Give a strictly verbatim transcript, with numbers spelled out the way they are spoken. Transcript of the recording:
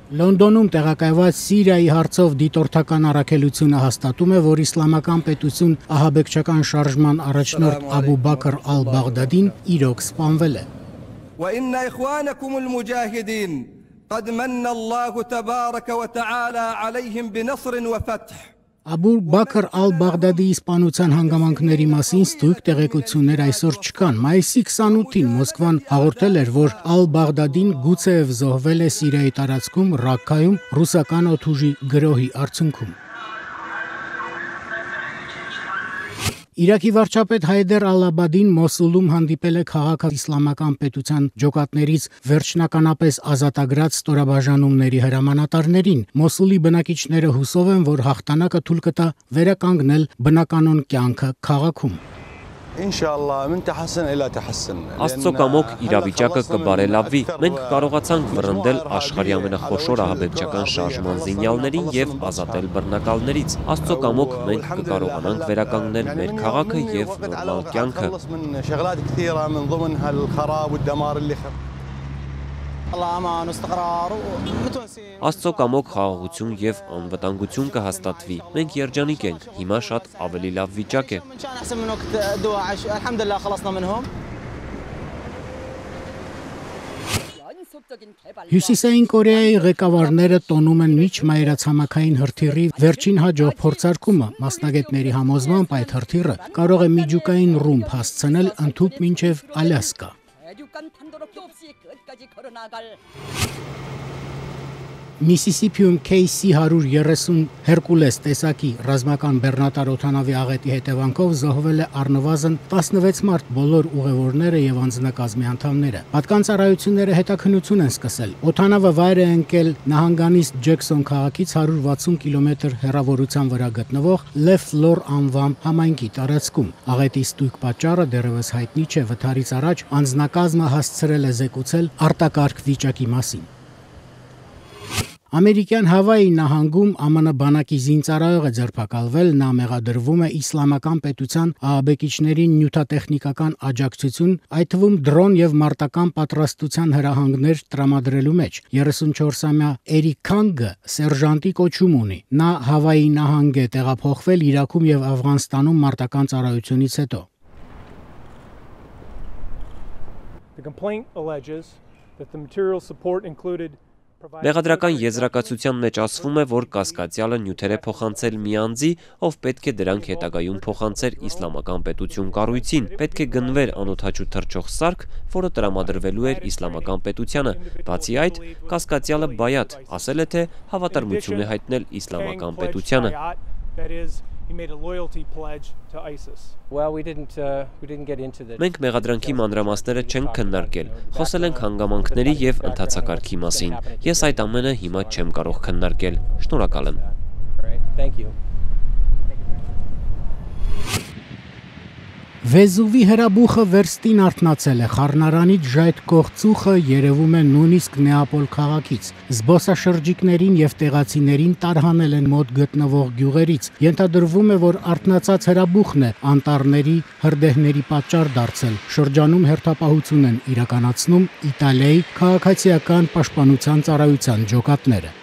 Լոնդոնում տեղակայված Սիրիայի հարցով դիտորդական առաքելությունը հաստատում է, որ իսլամական պետություն ահաբեկչական շարժման առաջնորդ Աբու Բաքր ալ-Բաղդադին իրոք սպանվել է։ وإن إخوانكم المجاهدين قد من الله تبارك وتعالى عليهم بنصر وفتح Աբու Բաքր ալ-Բաղդադի իսպանության հանգամանքների մասին ստույգ տեղեկություններ այսօր չկան։ Մայիսի քսանութին Մոսկվան հաղորդել էր, որ ալ-Բաղդադին գուցեև զոհվել է Սիրիայի տարածքում Ռաքքայում ռուսական օդուժի գրոհի արդյունքում։ Իրաքի վարչապետ Հայդեր ալ-Աբադին Մոսուլում հանդիպել է քաղաքը իսլամական պետության ջոկատներից վերջնականապես ազատագրած ստորաբաժանումների հրամանատարներին։ Մոսուլի բնակիչները հուսով են, որ հաղթանակը թույլ կտա վերականգնել բնականոն կյանքը քաղաքում։ Աստծո կամոք իրավիճակը կբարելավվի։ Մենք կարողացանք վռնդել աշխարհի ամենախոշոր ահաբեկչական շարժման զինյալներին եւ ազատել բռնակալներից։ Աստծո կամոք մենք կկարողանանք վերականգնել մեր քաղաքը եւ նորմալ կյանքը։ Աստծո կամոք խաղաղություն եւ անվտանգություն կհաստատվի։ Մենք երջանիկ ենք։ Հիմա շատ ավելի լավ վիճակ է։ Հյուսիսային Կորեայի ղեկավարները տոնում են միջմայրացամաքային հրթիռի վերջին հաջող փորձարկումը։ Մասնագետների համոզմամբ այդ հրթիռը կարող է միջուկային ռումբ հասցնել ընդհուպ մինչև Ալյասկա։ Միսիսիփիում K C one thirty Հերկուլես տեսակի ռազմական բեռնատար օդանավի աղետի հետևանքով զոհվել է առնվազն տասնվեց մարդ, բոլոր ուղևորները եւ անձնակազմի անդամները։ Պատկան ծառայությունները հետաքննություն են սկսել։ Օդանավը վայր է ընկել նահանգանիստ Ջեքսոն քաղաքից one hundred sixty կիլոմետր հեռավորության վրա գտնվող Լեֆլոր անվան համայնքի տարածքում։ Աղետի ստույգ պատճառը դեռևս հայտնի չէ։ Վթարից առաջ անձնակազմը հասցրել է զեկուցել արտակարգ վիճակի մասին։ Ամերիկյան Հավայի նահանգում M M N բանակի զինծառայող է ձերբակալվել, նա մեղադրվում է իսլամական պետության ահաբեկիչներին նյութատեխնիկական աջակցություն, այդ թվում դրոն եւ մարտական պատրաստության հրահանգներ տրամադրելու մեջ։ thirty-four-ամյա Էրիկ Քանգը սերժանտի կոչում ունի։ Նա Հավայի նահանգ է տեղափոխվել Իրաքում եւ Աֆղանստանում մարտական ծառայությունից հետո։ The complaint alleges that the material support included Մեղադրական եզրակացության մեջ ասվում է, որ կասկածյալը նյութեր է փոխանցել մի անձի, ով պետք է դրանք հետագայում փոխանցեր իսլամական պետություն կառույցին, պետք է գնվեր անօդաչու թռչող սարք, որը տրամադրվելու էր իսլամական պետությանը։ Բացի այդ, կասկածյալը բայաթ ասել է, թե հավատարմություն է հայտնել իսլամական պետությանը։ He made a loyalty pledge to ISIS. Well, we didn't uh, we didn't get into this. Մենք մեղադրանքի մանրամասները չենք քննարկել։ Խոսել ենք հանգամանքների եւ ընթացակարգի մասին։ Ես այդ ամենը հիմա չեմ կարող քննարկել։ Շնորհակալ եմ։ Thank you. Վեզուվի հրաբուխը վերստին արթնացել է, խառնարանից ժայթքող ծուխը երևում է նույնիսկ Նեապոլ քաղաքից։ Զբոսաշրջիկներին եւ տեղացիներին տարհանել են մոտ գտնվող գյուղերից։ Ենթադրվում է, որ արթնացած հրաբուխն է անտառների հրդեհների պատճառ դարձել։ Շրջանում հերթապահություն են իրականացնում Իտալիայի քաղաքացիական պաշտպանության ծառայության ջոկատները։